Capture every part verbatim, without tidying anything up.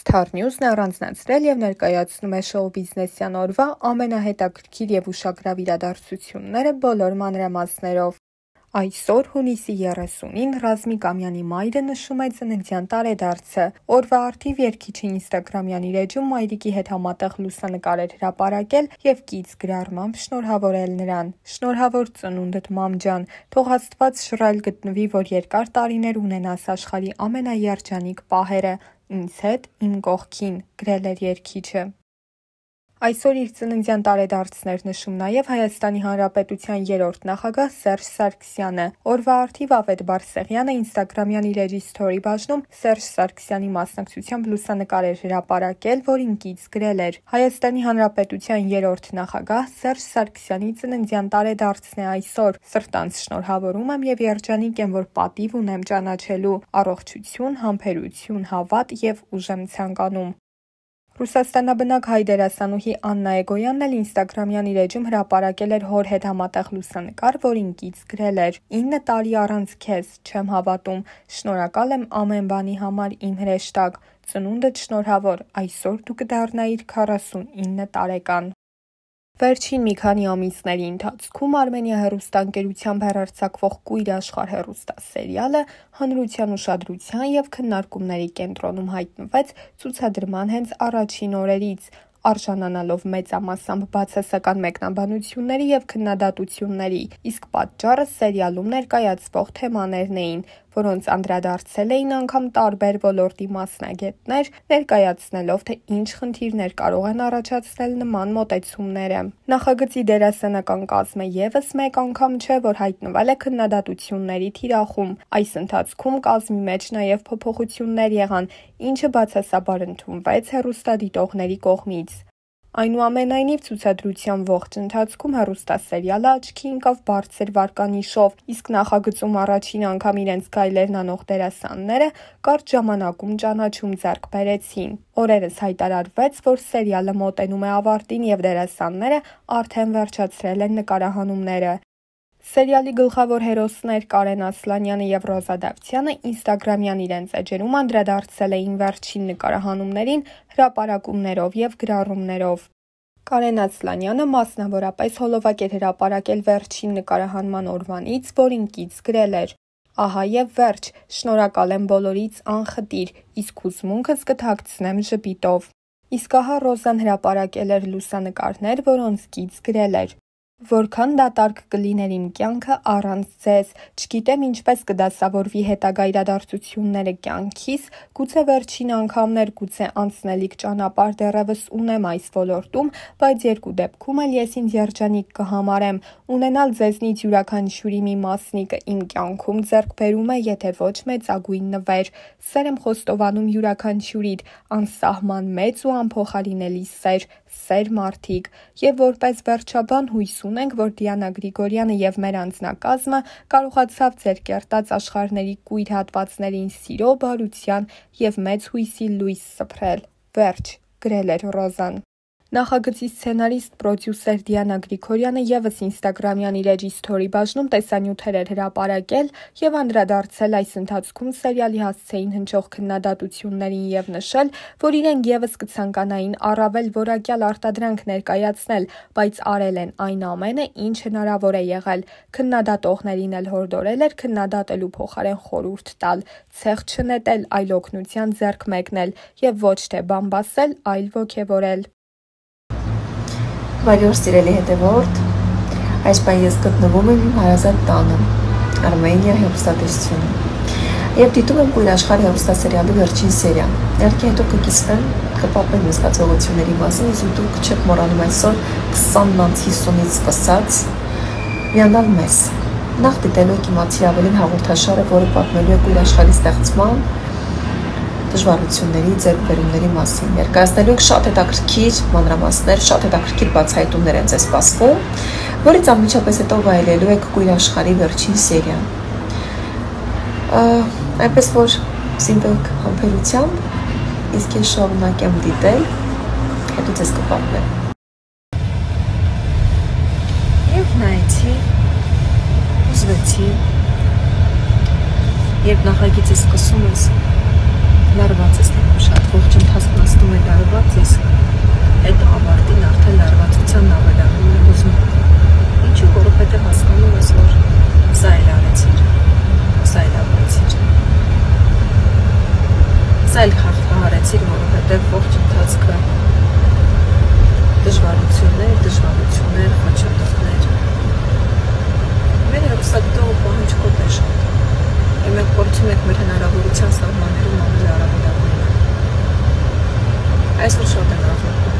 Star News-ն է առանձնացրել և ներկայացնում է շոու-բիզնեսյան օրվա ամենահետաքրքիր և ուշագրավ իրադարձությունները բոլոր մանրամասներով։ Այսօր, հունիսի երեսունին, Ռազմիկ Ամյանի մայրը նշում է ծննդյան տարեդարձը։ Օրվա առթիվ երգիչը ինստագրամյան իր էջում մայրիկի հետ համատեղ լուսանկար էր հրապարակել և կից գրառմամբ շնորհավորել նրան։ Շնորհավոր ծնունդդ, մամ ջան, թող Աստված շռայլ գտնվի, որ երկար տարիներ ունենաս աշխարհի ամենաերջանիկ պահերը, ինձ հետ, իմ կողքին, գրել էր երգիչը։ Այսօր իր ծննդյան տարեդարձն նշում նաև Հայաստանի Հանրապետության երրորդ նախագահ Սերժ Սարգսյանը։ Օրվա առթիվ Ավետ Բարսեղյանը ինստագրամյան իր էջի սթորի բաժնում Սերժ Սարգսյանի մասնակցությամբ լուսանկար էր հրապարակել, որին կից գրել էր. Հայաստանի Հանրապետության երրորդ նախագահ Սերժ Սարգսյանի ծննդյան տարեդարձն է այսօր։ Սրտանց շնորհավորում եմ և երջանիկ եմ, որ պատիվ ունեմ ճանաչելու։ Առողջություն, համբերություն, հավատ և ուժ եմ ցանկանում։ Ռուսաստանաբնակ հայ դերասանուհի Աննա Էգոյանն էլ ինստագրամյան իր էջում հրապարակել էր հոր հետ համատեղ լուսանկար, որին կից գրել էր. ինը տարի առանց քեզ, չեմ հավատում, շնորհակալ եմ ամեն բանի համար, իմ հրեշտակ, ծնունդդ շնորհավոր, այսօր դու կդառնայիր քառասունինը տարեկան։ Վերջին մի քանի ամիսների ընթացքում Արմենիա հեռուստաընկերությամբ հեռարձակվող Կույր աշխարհ հեռուստասերիալը հանրության ուշադրության և քննարկումների կենտրոնում հայտնվեց ցուցադրման հենց առաջին օրերից, արժանանալով մեծամասամբ բացասական մեկնաբանությունների և քննադատությունների, իսկ պատճառը սերիալում ներկայացվող թեմաներն էին, որոնց անդրադարձել էին անգամ տարբեր ոլորտի մասնագետներ, ներկայացնելով, թե ինչ խնդիրներ կարող են առաջացնել նման մոտեցումները։ Նախագծի դերասանական կազմը ևս մեկ անգամ չէ, որ հայտնվել է քննադատությունների թիրախում։ Այս ընթացքում կազմի մեջ նաև փոփոխություններ եղան, ինչը բացասաբար ընդունվեց հեռուստադիտողների կողմից։ Այնուամենայնիվ, ցուցադրության ողջ ընթացքում հեռուստասերիալը աչքի ընկավ բարձր վարկանիշով, իսկ նախագծում առաջին անգամ իրենց գայլերն անող դերասանները կարճ ժամանակում ճանաչում ձեռք բերեցին։ Օրերս հայտարարվեց, որ սերիալը մոտենում է ավարտին և դերասանները արդեն վերջացրել են նկարահանումները։ Սերիալի գլխավոր հերոսներ Կարեն Ասլանյանը և Ռոզա Դավթյանը ինստագրամյան իրենց էջերում անդրադարձել էին վերջին նկարահանումներին հրապարակումներով և գրառումներով։ Կարեն Ասլանյանը մասնավորապես հոլովակ էր հրապարակել վերջին նկարահանման օրվանից, որին կից գրել էր. Ահա և վերջ, շնորհակալ եմ բոլորից անխտիր, իսկ հուզմունքս կթաքցնեմ ժպիտով։ Իսկ ահա Ռոզան հրապարակել էր լուսանկարներ, որոնց կից գրել էր. Որքան դատարկ կլիներ իմ կյանքը առանց ձեզ, չգիտեմ ինչպես կդասավորվի հետագա իրադարձությունները կյանքիս, գուցե վերջին անգամն էր, գուցե անցնելիք ճանապարհ դեռևս ունեմ այս ոլորտում, բայց երկու դեպքում էլ ես ինձ երջանիկ կհամարեմ։ Ունենալ ձեզնից յուրաքանչյուրի մի մասնիկը իմ կյանքում ձեռքբերում է, եթե ոչ մեծագույն նվեր։ Սեր եմ խոստովանում յուրաքանչյուրիդ, անսահման մեծ ու անփոխարինելի սեր, սեր մարդիկ։ Եվ որպես վերջաբան հույս ունենք, որ Դիանա Գրիգորյանը և մեր անձնակազմը կարողացավ ձեր կերտած աշխարհների կույր հատվածներին սիրո, բարության և մեծ հույսի լույս սփռել։ Վերջ, գրել էր Ռոզան։ Նախագծի սցենարիստ, պրոդյուսեր Դիանա Գրիգորյանը ևս ինստագրամյան իր էջի սթորի բաժնում տեսանյութեր էր հրապարակել և անդրադարձել այս ընթացքում սերիալի հասցեին հնչող քննադատություններին և նշել, որ իրենք ևս կցանկանային առավել որակյալ արտադրանք ներկայացնել, բայց արել են այն ամենը, ինչ հնարավոր է եղել։ Քննադատողներին էլ հորդորել էր քննադատելու փոխարեն խորհուրդ տալ, ցեխ չնետել, այլ օգնության ձեռք մեկնել և ոչ թե բամբասել, այլ ոգևորել։ Բարի օր, սիրելի հետևորդ, այս պահին ես գտնվում եմ իմ հարազատ տանը, Արմենիա հեռուստատեսությունը, և դիտում եմ Կույր աշխարհ հեռուստասերիալի վերջին սերիան։ Իհարկե հետո կկիսվեմ, կպատմեմ իմ զգացողությունների մասին, իսկ դուք չեք մոռանում այսօր քսանից հիսունից սկսած միանալ մեզ։ Նախ դիտելու եք իմացի ավելին հաղորդաշարը, որը պատմելու է Կույր աշխարհի ստեղծման դժվարությունների, ձեռքբերումների մասին։ Ներկայացնելու ենք շատ հետաքրքիր մանրամասներ, շատ հետաքրքիր բացահայտումներ են ձեզ սպասվում, որից անմիջապես հետո վայելելու եք Կույր աշխարհի վերջին սերիան։ Այնպես որ զինվեք համբերությամբ, իսկ ես շարունակեմ դիտել, հետո ձեզ կպատմեմ։ Եվ նայեցի, ուզվեցի, երբ նախագիծը սկսում ես, լարված ես նկում շատ ողջ ընթացքում արեցիք, որովհետև ողջ ընթացքը դժվարություններ, դժվարություններ, խոչընդոտներ։ Մեր հեռուստադիտողը պահանջկոտ է շատ, եւ մենք փորձում ենք մեր հնարավորության սահմաններում անել արագորեն։ Այսօր շատ են աղոթում։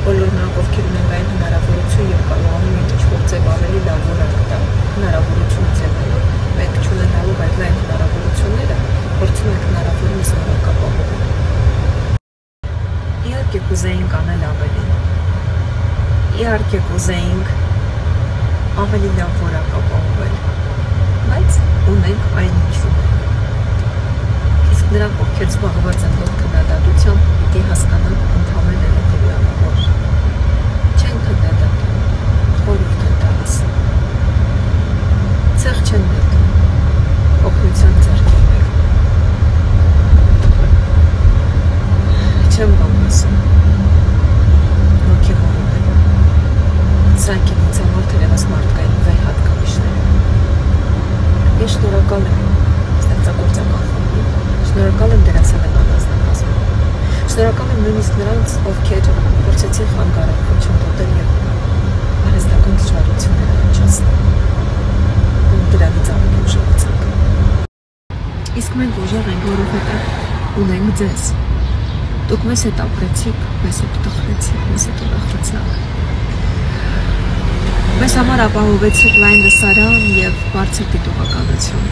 Բոլոր նրանք, ովքեր ունեն այն հնարավորություն եւ կարողանում են ինչ-որ ձև ավելի լավ որակ տալ, հնարավորություն ձևերով, մենք չունենալով այդ լայն հնարավորությունները, փորձում ենք հնարավորինս որակ ապահովել։ Իհարկե կուզեինք անել ավելին։ Իհարկե կուզեինք ավելի լավ որակ ապահովել, բայց ունենք այն ինչ ունենք։ Իսկ նրանք, ովքեր զբաղված են ողջ քննադատությամբ, պիտի հասկանան ընդհանրապես հետևյալը, որ չեն քննադատում, խորհուրդ են տալիս։ Ցեղ չեն նետում, օգնության ձեռք են բերում։ Չեմ բան ասում, ոգևորում են։ Սրանք են ինձ համար թերևս մարդկային վեր հատկանիշները։ Ես շնորհակալ եմ ստեղծագործական խմբին, շնորհակալ եմ դերասանական անձնակազմին, շնորհակալ եմ նույնիսկ նրանց, ովքեր փորձեցին խանգարել, խոչընդոտել եւ արհեստական դժվարություններ առաջացնել։ Ու դրանից ավելի ուժեղացանք։ Իսկ մենք ուժեղ ենք, որովհետեւ ունենք ձեզ։ Դուք մեզ հետ ապրեցիք, մեզ հետ տխրեցիք, մեզ հետ ուրախացաք։ Մեզ համար ապահովեցիք լայն լսարան եւ բարձր դիտողականություն,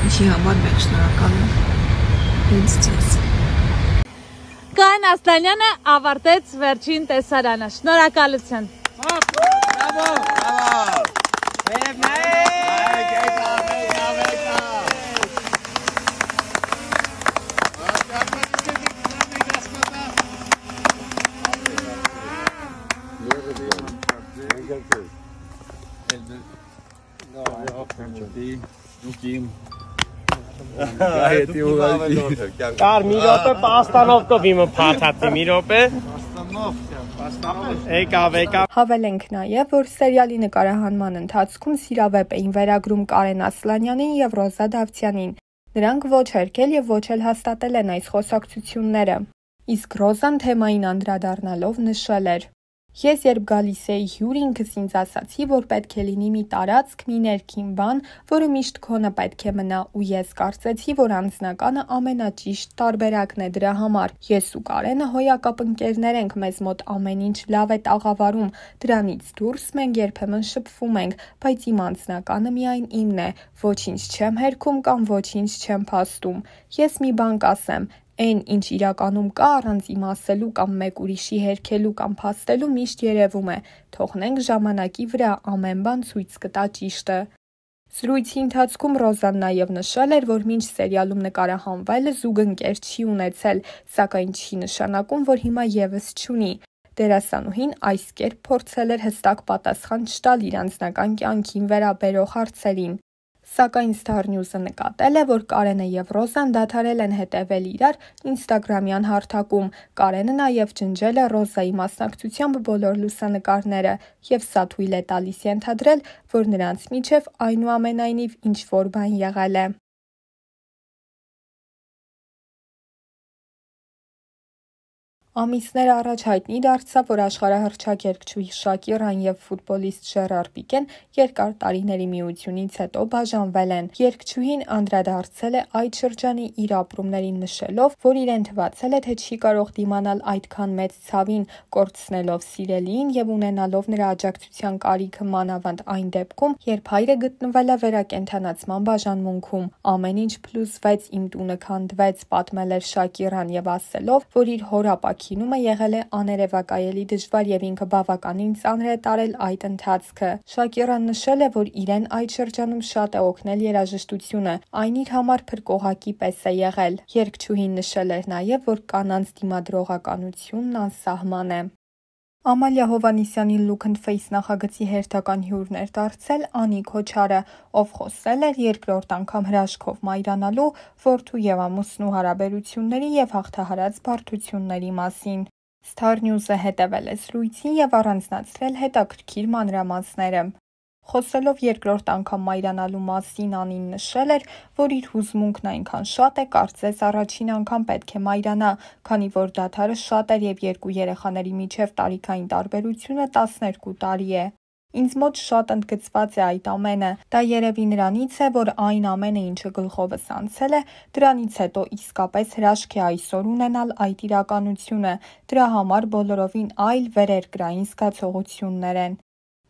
ինչի համար մենք շնորհակալ ենք հենց ձեզ։ Կայան Ասլանյանը ավարտեց վերջին տեսարանը։ Շնորհակալություն։ Բրավո, բրավո։ Եվ Կար մի րոպե պաստանով կովիմը փաթաթի մի րոպե եկավ եկավ Հավելենք նաև, որ սերիալի նկարահանման ընթացքում սիրավեպ էին վերագրում Կարեն Ասլանյանին եւ Ռոզա Դավթյանին։ Նրանք ոչ հերքել եւ ոչ էլ հաստատել են այս խոսակցությունները։ Իսկ Ռոզան թեմային անդրադառնալով նշել էր. Ես երբ գալիս էի հյուր, ինքս ինձ ասացի, որ պետք է լինի մի տարածք, մի ներքին բան, որը միշտ քոնը պետք է մնա, ու ես կարծեցի, որ անձնականը ամենաճիշտ տարբերակն է դրա համար։ Ես ու Կարենը հոյակապ ընկերներ ենք, մեզ մոտ ամեն ինչ լավ է տաղավարում, դրանից դուրս մենք երբեմն շփվում ենք, բայց իմ անձնականը միայն իմն է, ոչինչ չեմ հերքում կամ ոչինչ չեմ փաստում։ Ես մի բան կասեմ, Այն, ինչ իրականում կա առանց իմ ասելու կամ մեկ ուրիշի հերքելու կամ փաստելու միշտ երևում է, թողնենք ժամանակի վրա ամեն բան ցույց կտա ճիշտը։ Զրույցի ընթացքում Ռոզան նաև նշել էր, որ մինչ սերիալում նկարահանվելը զուգընկեր չի ունեցել, սակայն չի նշանակում, որ հիմա եւս չունի։ Դերասանուհին այս կերպ փորձել էր հստակ պատասխան չտալ իր անձնական կյանքին վերաբերող հարցերին։ Սակայն Star News-ը նկատել է, որ Կարենը եւ Ռոզան դադարել են հետևել իրար ինստագրամյան հարթակում։ Կարենը նաև ջնջել է Ռոզայի մասնակցությամբ բոլոր լուսանկարները եւ սա թույլ է տալիս ենթադրել, որ նրանց միջև այնուամենայնիվ ինչ-որ բան եղել է։ Ամիսներ առաջ հայտնի դարձավ, որ աշխարհահռչակ երգչուհի Շակիրան եւ ֆուտբոլիստ Ժերար Պիկեն երկար տարիների միությունից հետո բաժանվել են։ Երգչուհին անդրադարձել է այդ շրջանի իր ապրումներին նշելով, որ իրեն թվացել է, թե չի կարող դիմանալ այդքան մեծ ցավին, կորցնելով սիրելիին եւ ունենալով նրա աջակցության կարիքը մանավանդ այն դեպքում, երբ հայրը գտնվել է վերակենդանացման բաժանմունքում։ Ամեն ինչ փլուզվեց, իմ տունը քանդվեց, պատմել էր Շակիրան եւ ասելով, որ իր հորապա Կինումը եղել է աներևակայելի դժվար եւ ինքը բավականին ծանր է տարել այդ ընթացքը։ Շակիրան նշել է, որ իրեն այդ շրջանում շատ է օգնել երաժշտությունը, այն իր համար փրկողակի պես է եղել։ Երգչուհին նշել էր նաեւ, որ կանանց դիմադրողականությունն անսահման է։ Ամալիա Հովհաննիսյանի Look and Face նախագծի հերթական հյուրն էր դարձել Անի Քոչարը, ով խոսել էր երկրորդ անգամ հրաշքով մայրանալու, որդու եւ ամուսնու հարաբերությունների եւ հաղթահարած բարդությունների մասին։ Star News-ը հետևել է զրույցին եւ առանձնացրել հետաքրքիր մանրամասները։ Խոսելով երկրորդ անգամ մայրանալու մասին Անին նշել էր, որ իր հուզմունքն այնքան շատ է, կարծես առաջին անգամ պետք է մայրանա, քանի որ դադարը շատ էր և երկու երեխաների միջև տարիքային տարբերությունը տասներկու տարի է։ Ինձ մոտ շատ ընդգծված է այդ ամենը, դա երևի նրանից է, որ այն ամենը, ինչը գլխովս անցել է, դրանից հետո իսկապես հրաշք է այսօր ունենալ այդ իրականությունը, դրա համար բոլորովին այլ վերերկրային զգացողություններ են։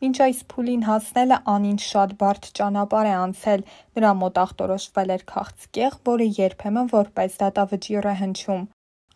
Մինչ այս փուլին հասնելը Անին շատ բարդ ճանապարհ է անցել, նրա մոտ ախտորոշվել էր քաղցկեղ, որը երբեմն որպես դատավճիռ է հնչում։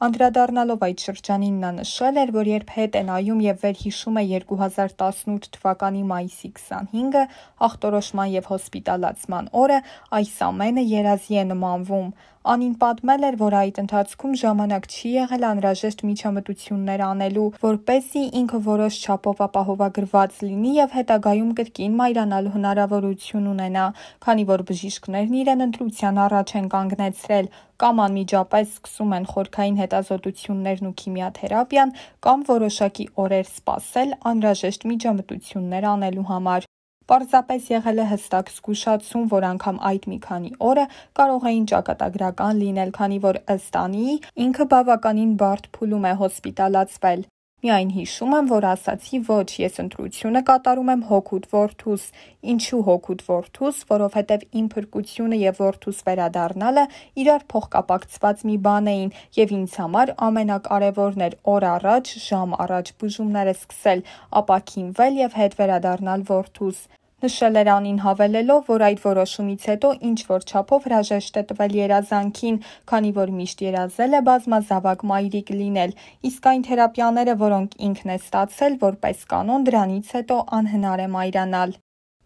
Անդրադառնալով այդ շրջանին նա նշել էր, որ երբ հետ է նայում և վերհիշում է երկու հազար տասնութ թվականի մայիսի քսանհինգը, ախտորոշման և հոսպիտալացման օրը, այս ամենը երազի է նմանվում։ Անին պատմել էր, որ այդ ընթացքում ժամանակ չի եղել անհրաժեշտ միջամտություններ անելու, որպեսզի ինքը որոշ չափով ապահովագրված լինի և հետագայում կրկին մայրանալու հնարավորություն ունենա, քանի որ բժիշկներն իրեն ընտրության առաջ են կանգնեցրել, կամ անմիջապես սկսում են խորքային հետազոտություններն ու քիմիաթերապիան, կամ որոշակի օրեր սպասել անհրաժեշտ միջամտություններ անելու համար։ Պարզապես եղել է հստակ զգուշացում, որ անգամ այդ մի քանի օրը կարող էին ճակատագրական լինել, քանի որ ըստ Անիի ինքը բավականին բարդ փուլում է հոսպիտալացվել։ Միայն հիշում եմ, որ ասացի ոչ, ես ընտրությունը կատարում եմ հօգուտ որդուս։ Ինչու հօգուտ որդուս, որովհետև իմ փրկությունը և որդուս վերադառնալը իրար փոխկապակցված մի բան էին, և ինձ համար ամենակարևորն էր օր առաջ, ժամ առաջ բուժումները սկսել, ապաքինվել և հետ վերադառնալ որդուս։ Նշել էր Անին հավելելով, որ այդ որոշումից հետո ինչ-որ չափով հրաժեշտ է տվել երազանքին, քանի որ միշտ երազել է բազմազավակ մայրիկ լինել, իսկ այն թերապիաները, որոնք ինքն է ստացել, որպես կանոն դրանից հետո անհնար է մայրանալ։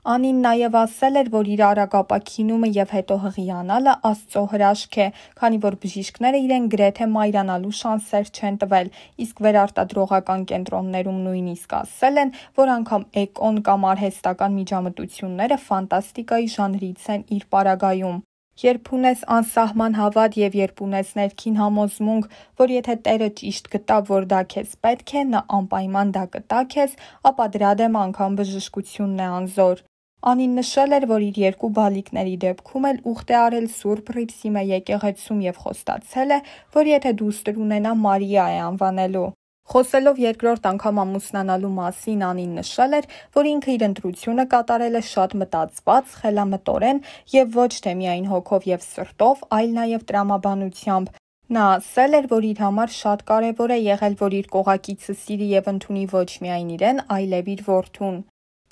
Անին նաև ասել էր, որ իր արագ ապաքինումը և հետո հղիանալը Աստծո հրաշք է, քանի որ բժիշկները իրեն գրեթե մայրանալու շանսեր չեն տվել, իսկ վերարտադրողական կենտրոններում նույնիսկ ասել են, որ անգամ էկոն կամ արհեստական միջամտությունները ֆանտաստիկայի ժանրից են իր պարագայում։ Երբ ունես անսահման հավատ և երբ ունես ներքին համոզմունք, որ եթե Տերը ճիշտ գտա, որ դա քեզ պետք է, նա անպայման դա կտա քեզ, ապա դրա դեմ անգամ բժշկությունն է անզոր։ Անին նշել էր, որ իր երկու բալիկների դեպքում էլ ուխտ է արել Սուրբ Հռիփսիմե եկեղեցում և խոստացել է, որ եթե դուստր ունենա, Մարիա է անվանելու։ Խոսելով երկրորդ անգամ ամուսնանալու մասին Անին նշել էր, որ ինքը իր ընտրությունը կատարել է շատ մտածված, խելամտորեն և ոչ թե միայն հոգով և սրտով, այլ նաև տրամաբանությամբ։ Նա ասել էր, որ իր համար շատ կարևոր է եղել, որ իր կողակիցը սիրի և ընդունի ոչ միայն իրեն, այլև իր որդուն։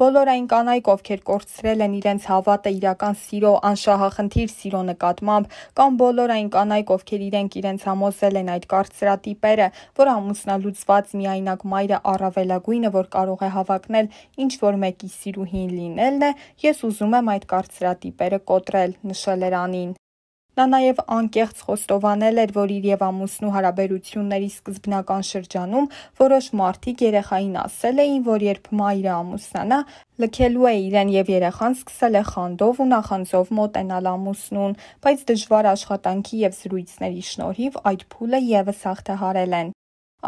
Բոլոր այն կանայք, ովքեր կորցրել են իրենց հավատը իրական սիրո, անշահախնդիր սիրո նկատմամբ, կամ բոլոր այն կանայք, ովքեր իրենք իրենց համոզել են այդ կարծրատիպերը, որ ամուսնալուծված միայնակ մայրը առավելագույնը, որ կարող է հավակնել ինչ-որ մեկի սիրուհին լինելն է, ես ուզում եմ այդ կարծրատիպերը կոտրել, նշել էր Անին։ Նա նաև անկեղծ խոստովանել էր, որ իր և ամուսնու հարաբերությունների սկզբնական շրջանում որոշ մարդիկ երեխային ասել էին, որ երբ մայրը ամուսնանա, լքելու է իրեն և երեխան սկսել է խանդով ու նախանձով մոտենալ ամուսնուն, բայց դժվար աշխատանքի և զրույցների շնորհիվ այդ փուլը ևս հաղթահարել են։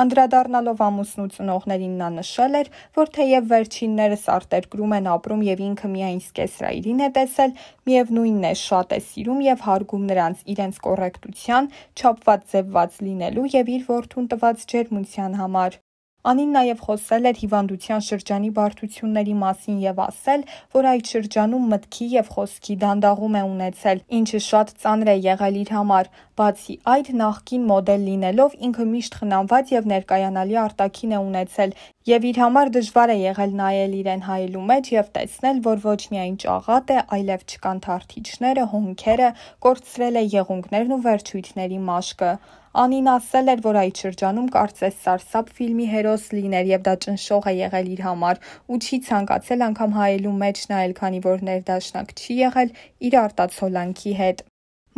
Անդրադառնալով ամուսնու ծնողներին նա նշել էր, որ թեև վերջիններս արտերկրում են ապրում և ինքը միայն սկեսրայրին է տեսել, միևնույնն է շատ է սիրում և հարգում նրանց իրենց կոռեկտության, չափված ձևված լինելու և իր որդուն տված ջերմության համար։ Անին նաև խոսել էր հիվանդության շրջանի բարդությունների մասին և ասել, որ այդ շրջանում մտքի և խոսքի դանդաղում է ունեցել, ինչը շատ ծանր է եղել իր համար։ Բացի այդ, նախկին մոդել լինելով ինքը միշտ խնամված և ներկայանալի արտաքին է ունեցել, և իր համար դժվար է եղել նայել իրեն հայելու մեջ և տեսնել, որ ոչ միայն ճաղատ է, այլև չկան թարթիչները, հոնքերը, կորցրել է եղունգներն ու վերջույթների մաշկը։ Անին ասել էր, որ այդ շրջանում կարծես սարսափ ֆիլմի հերոս լիներ և դա ճնշող է եղել իր համար ու չի ցանկացել անգամ հայելու մեջ նայել, քանի որ ներդաշնակ չի եղել իր արտացոլանքի հետ։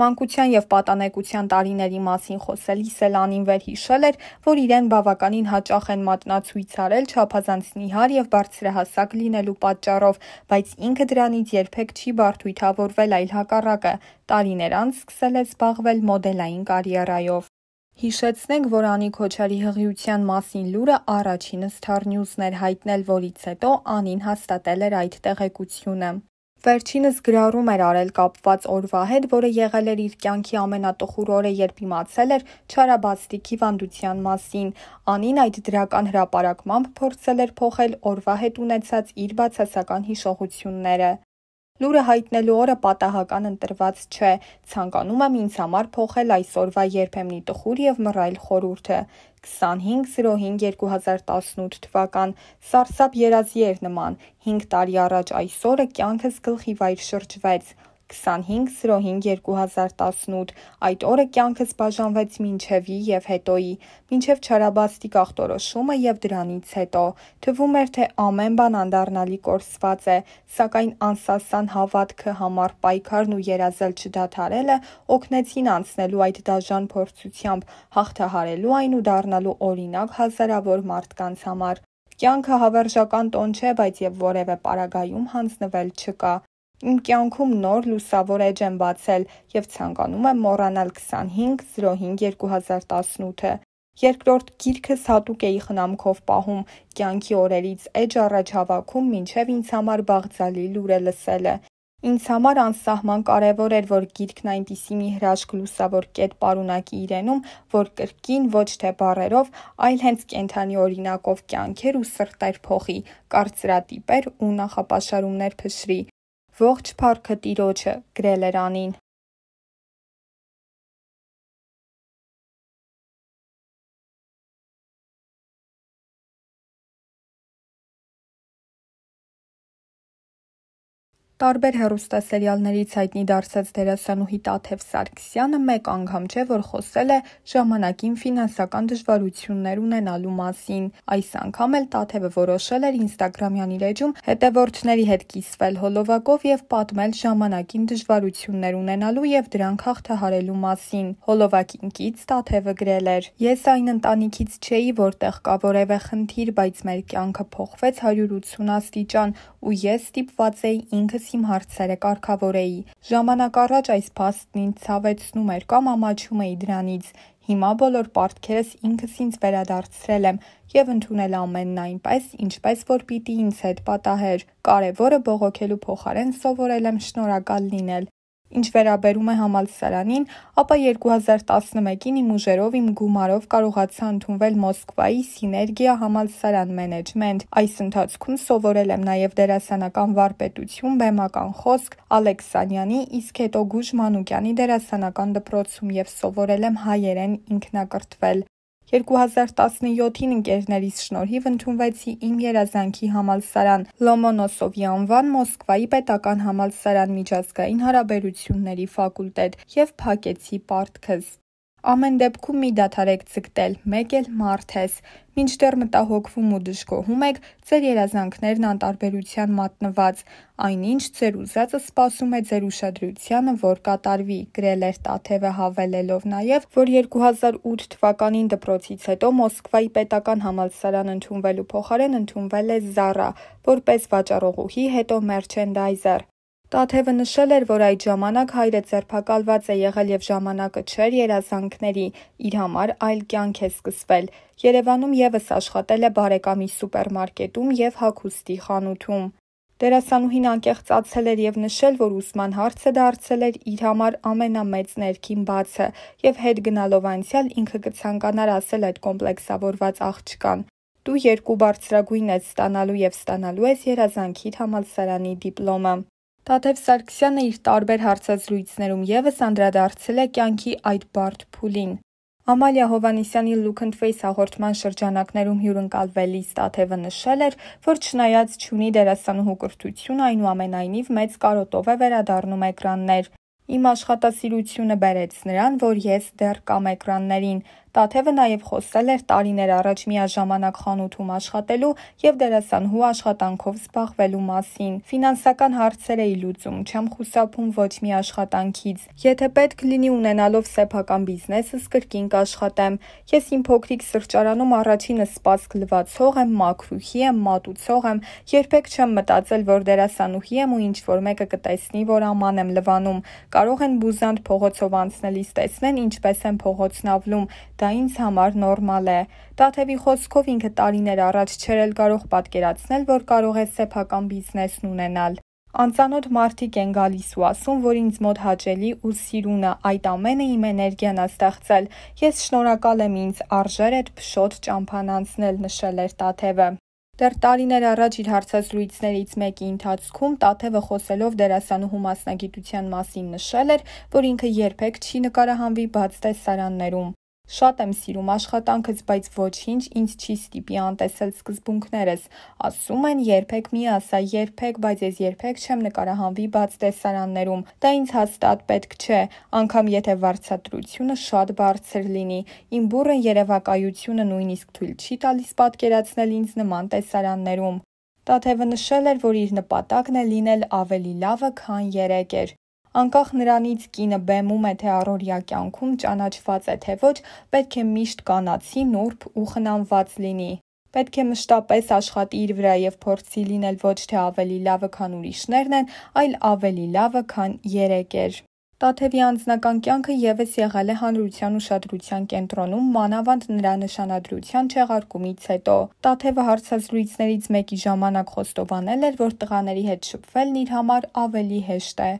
Մանկության և պատանեկության տարիների մասին խոսելիս էլ Անին վերհիշել էր, որ իրեն բավականին հաճախ են մատնացույց արել չափազանց նիհար և բարձրահասակ լինելու պատճառով, բայց ինքը դրանից երբեք չի բարդույթավորվել, այլ հակառակը, տարիներ անց սկսել է զբաղվել մոդելային կարիերայով։ Հիշեցնենք, որ Անի Քոչարի հղիության մասին լուրը առաջինը Star News-ն էր հայտնել, որից հետո Անին հաստատել էր այդ տեղեկությունը։ Վերջինս գրառում էր արել կապված օրվա հետ, որը եղել էր իր կյանքի ամենատխուր օրը, երբ իմացել էր չարաբաստիկ հիվանդության մասին։ Անին այդ դրական հրապարակմամբ փորձել էր փոխել օրվա հետ ունեցած իր բացասական հիշողությունները։ Լուրը հայտնելու օրը պատահական ընտրված չէ, ցանկանում եմ ինձ համար փոխել այս օրվա երբեմնի տխուր և մռայլ խորհուրդը։ քսանհինգ զիրոհինգ երկու հազար տասնութ թվական սարսափ երազի էր նման, հինգ տարի առաջ այս օրը կյանքս գլխի վայր շրջվեց։ քսանհինգ զիրոհինգ երկու հազար տասնութ այդ օրը կյանքս բաժանվեց մինչևի և հետոյի, մինչև չարաբաստիկ ախտորոշումը և դրանից հետո։ Թվում էր, թե ամեն բան անդառնալի կորսված է, սակայն անսասան հավատքը, համառ պայքարն ու երազել չդադարելը օգնեցին անցնելու այդ դաժան փորձությամբ, հաղթահարելու այն ու դառնալու օրինակ հազարավոր մարդկանց համար։ Կյանքը հավերժական տոն չէ, բայց և որևէ պարագայում հանձնվել չկա։ Իմ կյանքում նոր լուսավոր էջ եմ բացել և ցանկանում եմ մոռանալ քսանհինգ զիրոհինգ երկու հազար տասնութը։ Երկրորդ գիրքս հատուկ էի խնամքով պահում, կյանքի օրերից էջ առաջ հավաքում, մինչև ինձ համար բաղձալի լուրը լսելը։ Ինձ համար անսահման կարևոր էր, որ գիրքն այնպիսի մի հրաշք լուսավոր կետ պարունակի իրենում, որ կրկին ոչ թե բառերով, այլ հենց կենդանի օրինակով կյանքեր ու սրտեր փոխի, կարծրատիպեր ու նախապաշարումներ փշրի։ Ողջ փառքը Տիրոջը, գրել էր Անին։ Տարբեր հեռուստասերիալներից հայտնի դարձած դերասանուհի Տաթև Սարգսյանը մեկ անգամ չէ, որ խոսել է ժամանակին ֆինանսական դժվարություններ ունենալու մասին։ Այս անգամ էլ Տաթևը որոշել էր ինստագրամյան իր էջում հետևորդների հետ կիսվել հոլովակով և պատմել ժամանակին դժվարություններ ունենալու և դրանք հաղթահարելու մասին։ Հոլովակին կից Տաթևը գրել էր. «Ես այն ընտանիքից չէի, որտեղ կա որևէ խնդիր, բայց մեր կյանքը փոխվեց հարյուր ութսուն աստիճան, ու ես ստիպված էի ինքս իմ հարցերը կարգավորեի։ Ժամանակ առաջ այս փաստն ինձ ցավեցնում էր կամ ամաչում էի դրանից։ Հիմա բոլոր պարտքերս ինքս ինձ վերադարձրել եմ և ընդունել ամենն այնպես, ինչպես որ պիտի ինձ հետ պատահեր։ Կարևորը բողոքելու փոխարեն սովորել եմ շնորհակալ լինել։ Ինչ վերաբերում է համալսարանին, ապա երկու հազար տասնմեկին իմ ուժերով, իմ գումարով կարողացա ընդունվել Մոսկվայի Սիներգիա համալսարան մենեջմենտ։ Այս ընթացքում սովորել եմ նաև դերասանական վարպետություն, բեմական խոսք Ալեքսանյանի, իսկ հետո Գուժ Մանուկյանի դերասանական դպրոցում և սովորել եմ հայերեն ինքնակրթվել։ երկու հազար տասնյոթին ընկերներիս շնորհիվ ընդունվեցի իմ երազանքի համալսարան Լոմոնոսովի անվան Մոսկվայի պետական համալսարան միջազգային հարաբերությունների ֆակուլտետ և փակեցի պարտքս։ Ամեն դեպքում մի դադարեք ձգտել, մեկ էլ մարդ ես։ Մինչդեռ մտահոգվում ու դժգոհում եք, ձեր երազանքներն անտարբերության մատնված, այնինչ ձեր ուզածը սպասում է ձեր ուշադրությանը, որ կատարվի, գրել էր Տաթևը, հավելելով նաև, որ երկու հազար ութ թվականին դպրոցից հետո Մոսկվայի պետական համալսարան ընդունվելու փոխարեն ընդունվել է Զառա, որպես վաճառողուհի, հետո մերչենդայզեր։ Տաթևը նշել էր, որ այդ ժամանակ հայրը ձերբակալված է եղել և ժամանակը չէր երազանքների, իր համար այլ կյանք է սկսվել։ Երևանում ևս աշխատել է բարեկամի սուպերմարկետում և հագուստի խանութում։ Դերասանուհին անկեղծացել էր և նշել, որ ուսման հարցը դարձել էր իր համար ամենամեծ ներքին բացը և հետ գնալով անցյալ ինքը կցանկանար ասել այդ կոմպլեքսավորված աղջկան. «Դու երկու բարձրագույն ես ստանալու և ստանալու ես երազանքիդ համալսարանի դիպլոմը»։ Տաթև Սարգսյանը իր տարբեր հարցազրույցներում ևս անդրադարձել է կյանքի այդ բարդ փուլին։ Ամալիա Հովհաննիսյանի Look and Face հաղորդման շրջանակներում հյուրընկալվելիս Տաթևը նշել էր, որ չնայած չունի դերասանուհու կրթություն, այնուամենայնիվ մեծ կարոտով է վերադառնում էկրաններ։ Իմ աշխատասիրությունը բերեց նրան, որ ես դեռ կամ էկրաններին։ Տաթևը նաև խոսել էր տարիներ առաջ միաժամանակ խանութում աշխատելու և դերասանուհու աշխատանքով զբաղվելու մասին։ Ֆինանսական հարցեր էի լուծում, չեմ խուսափում ոչ մի աշխատանքից։ Եթե պետք լինի ունենալով սեփական բիզնեսս կրկին կաշխատեմ։ Ես իմ փոքրիկ սրճարանում առաջինը սպասք լվացող եմ, մաքրուհի եմ, մատուցող եմ, երբեք չեմ մտածել, որ դերասանուհի եմ ու ինչ-որ մեկը կտեսնի, որ աման եմ լվանում։ Կարող են բուզանդ փողոցով անցնելիս տեսնեն, ինչպես եմ փողոցն ավլում, դա ինձ համար նորմալ է։ Տաթևի խոսքով ինքը տարիներ առաջ չէր էլ կարող պատկերացնել, որ կարող է սեփական բիզնեսն ունենալ։ Անծանոթ մարդիկ են գալիս ու ասում, որ ինձ մոտ հաճելի ու սիրուն է, այդ ամենը իմ էներգիան է ստեղծել։ Ես շնորհակալ եմ ինձ արժեր այդ փշոտ ճամփան անցնել, նշել էր Տաթևը։ Դեռ տարիներ առաջ իր հարցազրույցներից մեկի ընթացքում Տաթևը խոսելով դերասանուհու մասնագիտության մասին նշել էր, որ ինքը երբեք չի նկարահանվի բաց տեսարաններում։ Շատ եմ սիրում աշխատանքս, բայց ոչինչ ինձ չի ստիպի անտեսել սկզբունքներս։ Ասում են երբեք մի ասա երբեք, բայց ես երբեք չեմ նկարահանվի բաց տեսարաններում։ Դա ինձ հաստատ պետք չէ, անգամ եթե վարձատրությունը շատ բարձր լինի։ Իմ բուռն երևակայությունը նույնիսկ թույլ չի տալիս պատկերացնել ինձ նման տեսարաններում։ Տաթևը նշել էր, որ իր նպատակն է լինել ավելի լավը, քան երեք էր։ Անկախ նրանից կինը բեմում է թե առօրյա կյանքում ճանաչված է թե ոչ, պետք է միշտ կանացի, նուրբ ու խնամված լինի։ Պետք է մշտապես աշխատի իր վրա եւ փորձի լինել ոչ թե ավելի լավը, քան ուրիշներն են, այլ ավելի լավը, քան երեք էր։ Տաթևի անձնական կյանքը ևս եղել է հանրության ուշադրության կենտրոնում, մանավանդ նրա նշանադրության չեղարկումից հետո։ Տաթևը հարցազրույցներից մեկի ժամանակ խոստովանել էր, որ տղաների հետ շփվելն իր համար ավելի հեշտ է։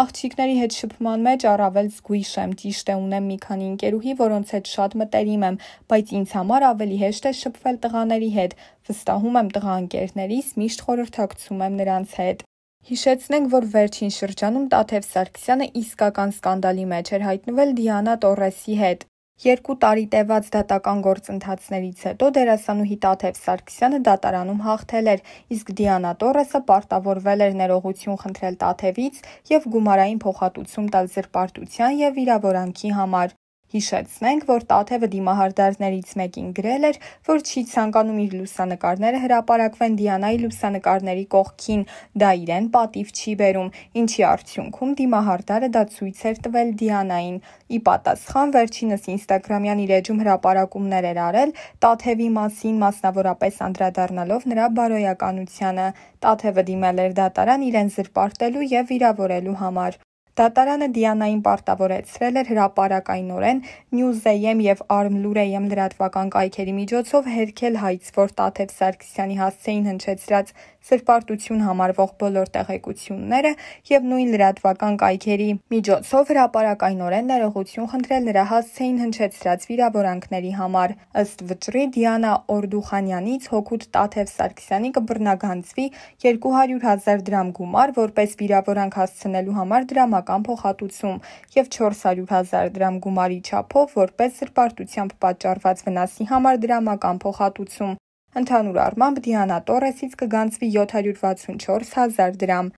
Աղջիկների հետ շփման մեջ առավել զգույշ եմ, ճիշտ է ունեմ մի քանի ընկերուհի, որոնց հետ շատ մտերիմ եմ, բայց ինձ համար ավելի հեշտ է շփվել տղաների հետ, վստահում եմ տղա ընկերներիս, միշտ խորհրդակցում եմ նրանց հետ։ Հիշեցնենք, որ վերջին շրջանում Տաթև Սարգսյանը իսկական սկանդալի մեջ էր հայտնվել Դիանա Տորեսի հետ։ Երկու տարի տևած դատական գործընթացներից հետո դերասանուհի Տաթև Սարգսյանը դատարանում հաղթել էր, իսկ Դիանա Տորեսը պարտավորվել էր ներողություն խնդրել Տաթևից եւ գումարային փոխհատուցում տալ զրպարտության եւ վիրավորանքի համար։ Հիշեցնենք, որ Տաթևը դիմահարդարներից մեկին գրել էր, որ չի ցանկանում իր լուսանկարները հրապարակվեն Դիանայի լուսանկարների կողքին, դա իրեն պատիվ չի բերում, ինչի արդյունքում դիմահարդարը դա ցույց էր տվել Դիանային։ Ի պատասխան վերջինս ինստագրամյան իր էջում հրապարակումներ էր արել Տաթևի մասին, մասնավորապես անդրադառնալով նրա բարոյականությանը։ Տաթևը դիմել էր դատարան իրեն զրպարտելու եւ վիրավորելու համար։ Դատարանը Դիանային պարտավորեցրել էր հրապարակայնորեն Նյուզեյեմ եւ Արմլուրեյեմ լրատվական կայքերի միջոցով հերքել հայց, որ Տաթև Սարգսյանի հասցեին հնչեցրած սրպարտություն համարվող բոլոր տեղեկությունները եւ նույն լրատվական կայքերի միջոցով հրապարակայնորեն ներողություն խնդրել նրա հասցեին հնչեցրած վիրավորանքների համար։ Ըստ վճռի Դիանա Օրդուխանյանից հօգուտ Տաթև Սարգսյանի կբռնագանձվի երկու հարյուր հազար դրամ գումար, որպես վիրավորանք հասցնելու համար դրամական փոխհատուցում եւ չորս հարյուր հազար դրամ գումարի չափով, որպես սրպարտությամբ պատճառված վնասի համար դրամական փոխհատուցում։ Ընդհանուր առմամբ Դիանա Տորեսից կգանձվի յոթ հարյուր վաթսունչորս հազար դրամ։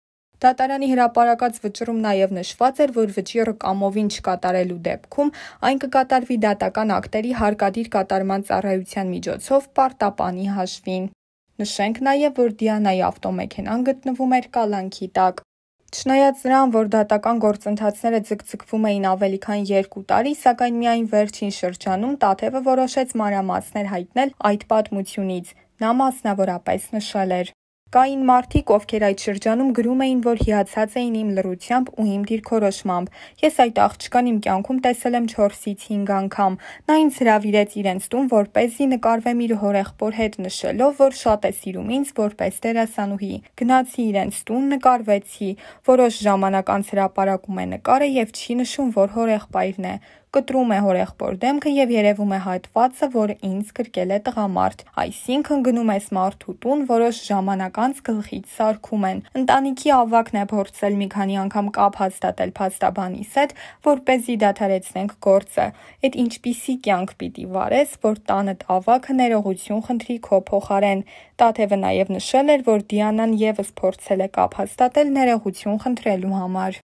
Դատարանի հրապարակած վճռում նաև նշված էր, որ վճիռը կամովին չկատարելու դեպքում այն կկատարվի դատական ակտերի հարկադիր կատարման ծառայության միջոցով պարտապանի հաշվին։ Նշենք նաև, որ Դիանայի ավտոմեքենան գտնվում էր կալանքի տակ։ Չնայած նրան, որ դատական գործընթացները ձգձգվում էին ավելի քան երկու տարի, սակայն միայն վերջին շրջանում Տաթևը որոշեց մանրամասներ հայտնել այդ պատմությունից։ Նա մասնավորապես նշել էր. Կային մարդիկ, ովքեր այդ շրջանում գրում էին, որ հիացած էին իմ լռությամբ ու իմ դիրքորոշմամբ։ Ես այդ աղջկան իմ կյանքում տեսել եմ չորսից հինգ անգամ։ Նա ինձ հրավիրեց իրենց տուն, որպեսզի նկարվեմ իր հորեղբոր հետ, նշելով, որ շատ է սիրում ինձ որպես դերասանուհի։ Գնացի իրենց տուն, նկարվեցի։ Որոշ ժամանակ անց հրապարակում է նկարը եւ չի նշում, որ հորեղբայրն է։ Կտրում է հորեղբոր դեմքը եւ երևում է հատվածը, որը ինձ գրկել է տղամարդ։ Այսինքն գնում ես մարդու տուն, որոշ ժամանակ անց գլխից սարքում են։ Ընտանիքի ավակն է փորձել մի քանի անգամ կապ հաստատել փաստաբանիս հետ, որպեսզի դադարեցնենք գործը։ Այդ ինչպիսի կյանք պիտի վարես, որ տանդ ավակը ներողություն խնդրի քո փոխարեն։ Տաթևը նաեւ նշել էր, որ Դիանան եւս փորձել է կապ հաստատել ներողություն խնդրելու համար։